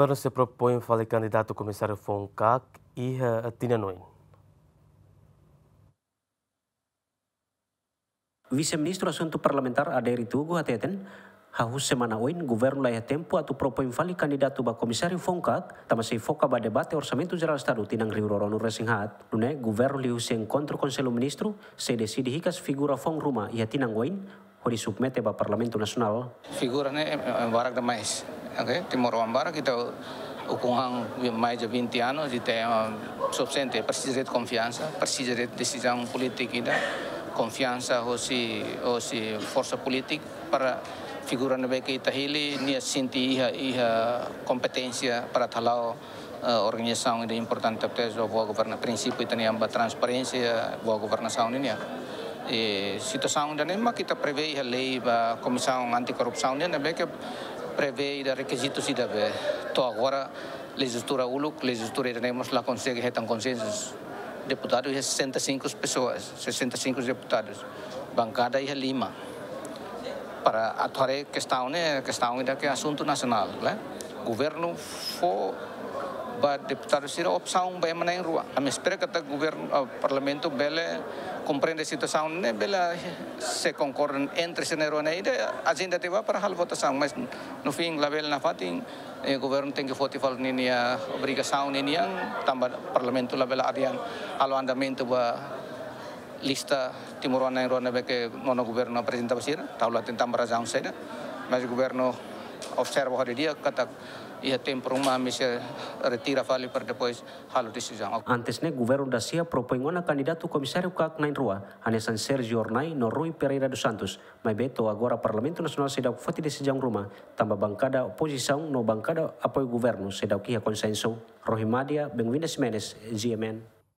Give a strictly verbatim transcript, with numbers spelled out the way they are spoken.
Governu sei propoin fali kandidatu komisáriu foun-kaak iha tinan oin. Vise-Ministru Asuntu Parlamentár Aderi Tugu hateten, hahú semana oin, governu laiha tempu atu propoin fali kandidatu ba komisáriu foun-kaak, tanba sei foka ba debate Orsamentu Jerál Estadu tinan rihun rua ruanulu-resin-haat. Nune'e, governu liuhusi enkontru Konsellu Ministru sei deside hikas figura foun ruma iha tinan oin, hodi submete ba Parlamentu Nasionál. Figura ne'e, eh, eh, barak demais. Oke, timoroan barak, ita ukun han mais de vinte anos, ita, eh, sufisiente, presiza de konfiansa, presiza de desizaun polítika ida, konfiansa hosi, hosi forsa polítika para figura ne'ebé ke ita hili, nia sente iha, iha kompeténsia para hala'o, eh, organizasaun ida importante, tes do boa governa, prinsípiu ita-nian ba transparénsia, boa governasaun nian. I situasaun ida-ne'e mak ita prevee iha lei ba Komisaun Anti-Korrupsaun nian, ne'ebé ke prevee ida rekizitu ida be to'o agora lejislatura uluk, lejislatura ida-ne'e mós la konsege hetan konsensu. Deputadu iha sessenta e cinco pessoas, sessenta e cinco deputados. Bankada iha lima. Para atu haree kestaun ne'e, kestaun ida ke asuntu nasionál, né? Governu fó ba deputadu sira opsaun ba ema na'in-rua. Ami espera katak governu, ah, parlamentu bele komprende situasaun ne'e, bele sei konkorda entre sira na'in-rua ne'e, ida ajenda tiha ba para halo votasaun, mas no fim labele nafatin, eh, governu tenke foti fali ninia obrigasaun ninian, tanba parlamentu labele adian halo andamentu ba lista timoroan na'in-rua ne'ebé ke nonu governu aprezenta ba sira, tau la hatene tanba razaun saida, mas governu observa ho di'ak katak iha tempu ruma ami sei retira fali para depois halo desizaun. Antes ne'e, governu dasiha propoin ona kandidatu komisáriu kaak na'in-rua, hanesan Sérgio Hornai no Rui Pereira dos Santos, maibé to'o agora Parlamentu Nasionál seidauk foti desizaun ruma, tanba bankada opozisaun no bankada apoiu governu seidauk iha konsensu. Rohimadia Benvinda Ximenes, G M N.